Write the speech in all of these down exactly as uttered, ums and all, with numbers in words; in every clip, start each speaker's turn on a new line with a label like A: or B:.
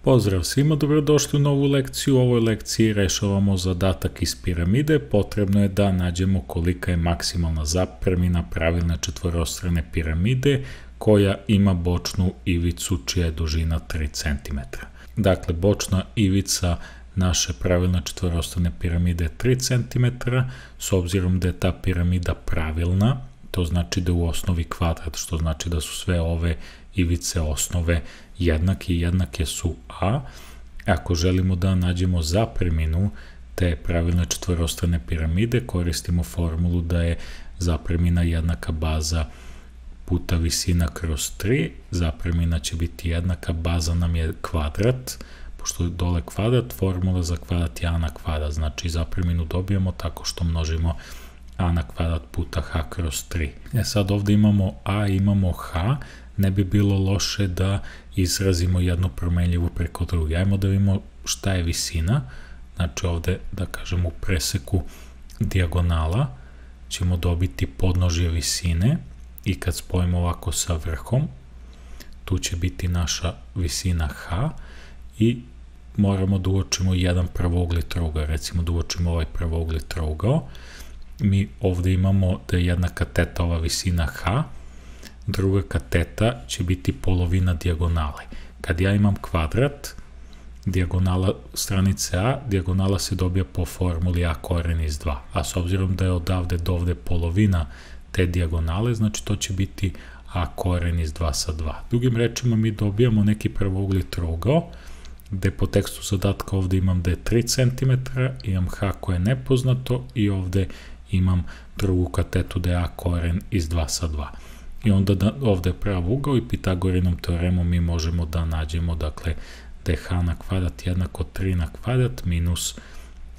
A: Pozdrav svima, dobrodošli u novu lekciju. U ovoj lekciji rešavamo zadatak iz piramide. Potrebno je da nađemo kolika je maksimalna zapremina pravilne četvorostrane piramide koja ima bočnu ivicu čija je dužina tri centimetra. Dakle, bočna ivica naše pravilne četvorostrane piramide je tri centimetra, s obzirom da je ta piramida pravilna, to znači da je u osnovi kvadrat, što znači da su sve ove ivice osnove jednake i jednake su a. Ako želimo da nađemo zapreminu te pravilne četvorostrane piramide, koristimo formulu da je zapremina jednaka baza puta visina kroz tri. Zapremina će biti jednaka, baza nam je kvadrat, pošto je dole kvadrat, formula za kvadrat je a na kvadrat, znači zapreminu dobijamo tako što množimo a na kvadrat puta h kroz tri. E sad ovde imamo a, imamo h, ne bi bilo loše da izrazimo jednu promenljivu preko druge. Ajmo da vidimo šta je visina, znači ovde da kažem u preseku dijagonala ćemo dobiti podnožje visine i kad spojimo ovako sa vrhom, tu će biti naša visina h i moramo da uočimo jedan pravougli trougao, recimo da uočimo ovaj pravougli trougao. Mi ovde imamo da je jedna kateta ova visina h, druga kateta će biti polovina dijagonale. Kad ja imam kvadrat, dijagonala stranice a, dijagonala se dobija po formuli a koren iz dva, a s obzirom da je odavde do ovde polovina te dijagonale, znači to će biti a koren iz dva sa dva. Drugim rečima mi dobijamo neki pravougli trougao, gde po tekstu zadatka ovde imam da je tri centimetra, imam h koje je nepoznato i ovde imam drugu katetu da je a koren iz dva sa dva. I onda da, ovde je pravougal i Pitagorinom teoremom mi možemo da nađemo, dakle, da je h na kvadrat jednako tri na kvadrat minus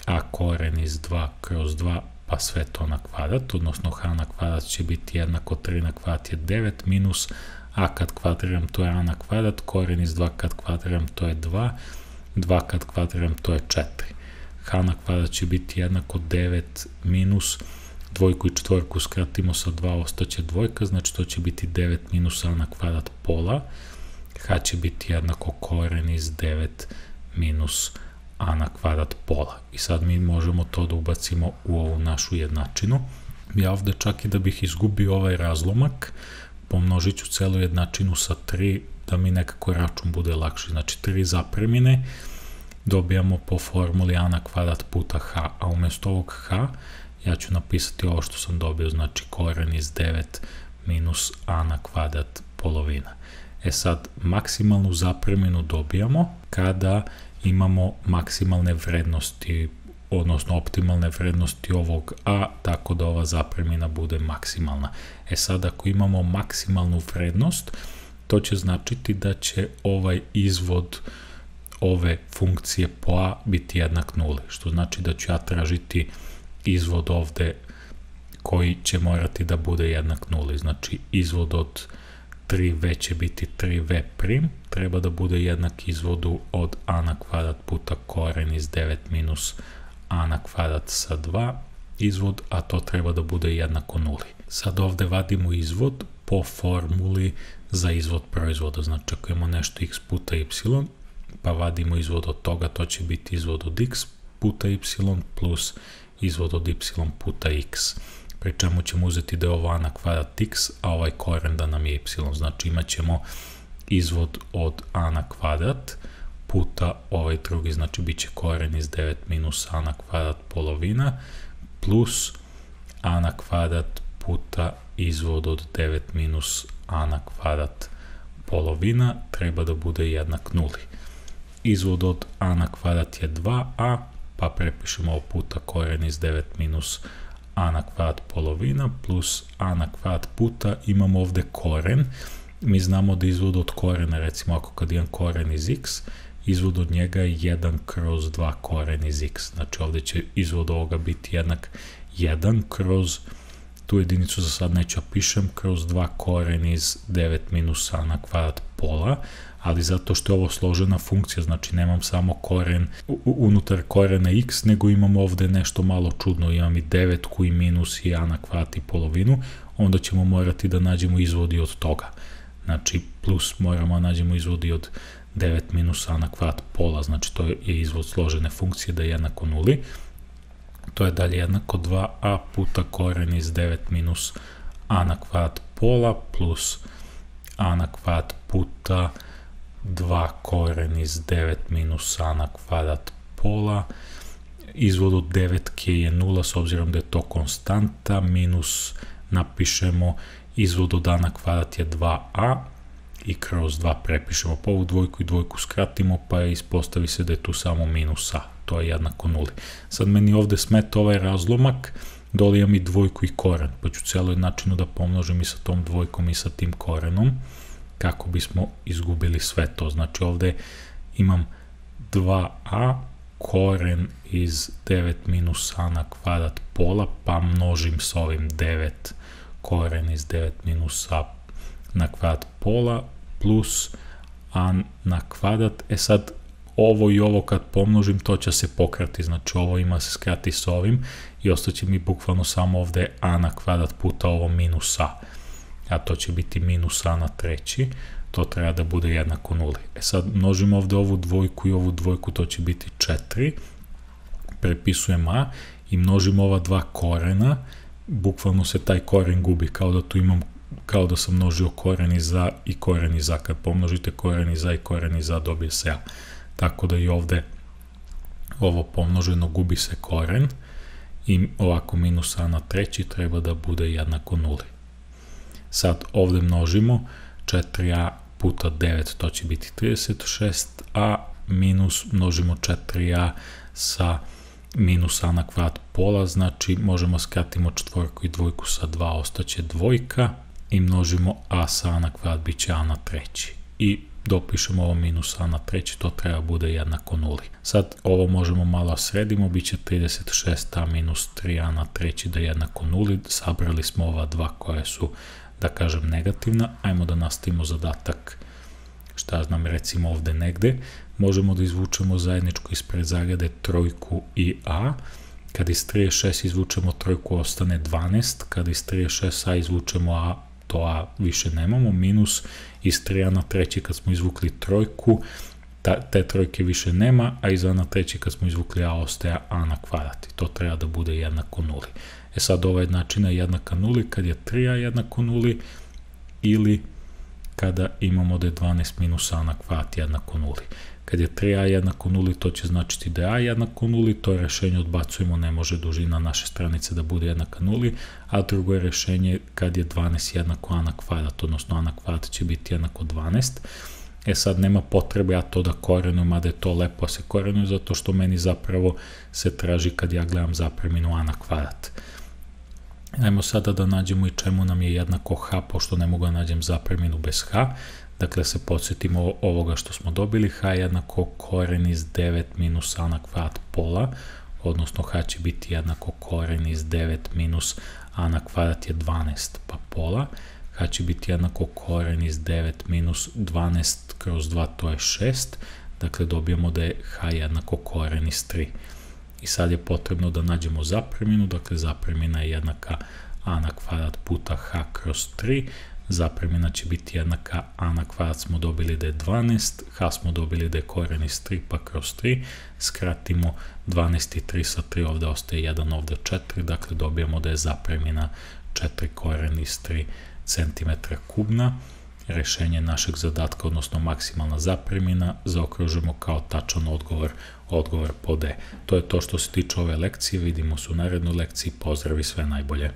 A: a koren iz dva kroz dva, pa sve to na kvadrat, odnosno h na kvadrat će biti jednako tri na kvadrat je devet minus a kad kvadriram to je a na kvadrat, koren iz dva kad kvadriram to je dva, dva kad kvadriram to je četiri. H na kvadrat će biti jednako devet minus dvojku i četvorku skratimo sa dva, ostaće dvojka, znači to će biti devet minus a na kvadrat pola, h će biti jednako koren iz devet minus a na kvadrat pola. I sad mi možemo to da ubacimo u ovu našu jednačinu. Ja ovde čak i da bih izgubio ovaj razlomak, pomnožit ću celu jednačinu sa tri, da mi nekako račun bude lakši, znači tri zapremine, dobijamo po formuli a na kvadrat puta h, a umesto ovog h ja ću napisati ovo što sam dobio, znači koren iz devet minus a na kvadrat polovina. E sad, maksimalnu zapreminu dobijamo kada imamo maksimalne vrednosti, odnosno optimalne vrednosti ovog a, tako da ova zapremina bude maksimalna. E sad, ako imamo maksimalnu vrednost, to će značiti da će ovaj izvod ove funkcije po a biti jednak nuli, što znači da ću ja tražiti izvod ovde koji će morati da bude jednak nuli, znači izvod od tri ve će biti tri ve prim, treba da bude jednak izvodu od a na kvadrat puta koren iz devet minus a na kvadrat sa dva izvod, a to treba da bude jednako nuli. Sad ovde vadimo izvod po formuli za izvod proizvoda, znači ako imamo nešto x puta y, pa vadimo izvod od toga, to će biti izvod od x puta y plus izvod od y puta x, pri čemu ćemo uzeti da je ovo a na kvadrat x, a ovaj koren da nam je y, znači imat ćemo izvod od a na kvadrat puta ovaj drugi, znači bit će koren iz devet minus a na kvadrat polovina plus a na kvadrat puta izvod od devet minus a na kvadrat polovina treba da bude jednak nuli. Izvod od a na kvadrat je dva a, pa prepišemo ovo puta koren iz devet minus a na kvadrat polovina plus a na kvadrat puta, imamo ovde koren, mi znamo da izvod od korena, recimo ako kad imam koren iz x, izvod od njega je jedan kroz dva koren iz x, znači ovde će izvod ovoga biti jednak jedan kroz, tu jedinicu za sad neću pišem, kroz dva koren iz devet minus a na kvadrat pola, ali zato što je ovo složena funkcija, znači nemam samo koren unutar korena x, nego imam ovde nešto malo čudno, imam i devetku i minus i a na kvadrat i polovinu, onda ćemo morati da nađemo izvodi od toga. Znači, plus moramo da nađemo izvodi od devet minus a na kvadrat pola, znači to je izvod složene funkcije da je jednako nuli. To je dalje jednako dva a puta koren iz devet minus a na kvadrat pola plus a na kvadrat puta dva koren iz devet minus a na kvadrat pola. Izvod od devetke je nula s obzirom da je to konstanta, minus napišemo izvod od a na kvadrat je dva a i kroz dva prepišemo, pa ovu dvojku i dvojku skratimo, pa ispostavi se da je tu samo minus a, to je jednako nuli. Sad meni ovde smeta ovaj razlomak, dole imam i dvojku i koren, pa ću celoj načinu da pomnožim i sa tom dvojkom i sa tim korenom, kako bismo izgubili sve to. Znači ovde imam dva a koren iz devet minus a na kvadrat pola, pa množim sa ovim devet koren iz devet minus a na kvadrat pola plus a na kvadrat. E sad, ovo i ovo kad pomnožim, to će se pokrati, znači ovo ima se skrati s ovim i ostaće mi bukvalno samo ovde a na kvadrat puta ovo minus a, a to će biti minus a na treći, to treba da bude jednako nuli. E sad, množim ovde ovu dvojku i ovu dvojku, to će biti četiri, prepisujem a i množim ova dva korena, bukvalno se taj koren gubi, kao da tu imam, kao da sam množio koren iz a i koren iz a, kad pomnožite koren iz a i koren iz a dobije se a, tako da i ovde ovo pomnoženo gubi se koren i ovako minus a na treći treba da bude jednako nuli. Sad ovde množimo četiri a puta devet, to će biti trideset šest a, minus množimo četiri a sa minus a na kvadrat pola, znači možemo skratimo četvorku i dvojku sa dva, ostaće dvojka i množimo a sa a na kvadrat, bit će a na treći i dopišemo ovo minus a na treći, to treba bude jednako nuli. Sad ovo možemo malo sredimo, bit će trideset šest a minus tri a na treći da je jednako nuli, sabrali smo ova dva koje su, da kažem, negativna. Ajmo da nastavimo zadatak, šta znam, recimo ovde negde, možemo da izvučemo zajedničko ispred zagrade trojku i a, kad iz trideset šest izvučemo trojku ostane dvanaest, kad iz trideset šest a izvučemo a, to a više nemamo, minus iz tri a na treći kad smo izvukli trojku, ta, te trojke više nema, a iz a na treći kad smo izvukli a ostaje a na kvadrat i to treba da bude jednako nuli. E sad ova jednačina je jednaka nuli kad je tri a jednako nuli ili kada imamo da je dvanaest minus a na kvadrat jednako nuli. Kad je tri a jednako nuli, to će značiti da je a jednako nuli, to rešenje odbacujemo, ne može dužina naše stranice da bude jednaka nuli, a drugo je rešenje kad je dvanaest jednako a na kvadrat, odnosno a na kvadrat će biti jednako dvanaest. E sad nema potrebe ja to da korenujem, mada je to lepo se korenujem, zato što meni zapravo se traži kad ja gledam zapreminu a na kvadrat. Ajmo sada da nađemo i čemu nam je jednako h, pošto ne mogu da nađem zapreminu bez h. Dakle, se podsjetimo ovoga što smo dobili, h je jednako koren iz devet minus a na kvadrat pola, odnosno h će biti jednako koren iz devet minus a na kvadrat je dvanaest, pa pola, h će biti jednako koren iz devet minus dvanaest kroz dva, to je šest, dakle dobijamo da je h jednako koren iz tri. I sad je potrebno da nađemo zapreminu, dakle zapremina je jednaka a na kvadrat puta h kroz tri, zapremina će biti jednaka a na kvadrat smo dobili da je dvanaest, h smo dobili da je koren iz tri, pa kroz tri, skratimo dvanaest i tri sa tri, ovde ostaje jedan, ovde četiri, dakle dobijamo da je zapremina četiri koren iz tri centimetra kubna. Rešenje našeg zadatka, odnosno maksimalna zapremina, zaokružimo kao tačan odgovor, odgovor po D. To je to što se tiče ove lekcije, vidimo se u narednoj lekciji, pozdrav i sve najbolje.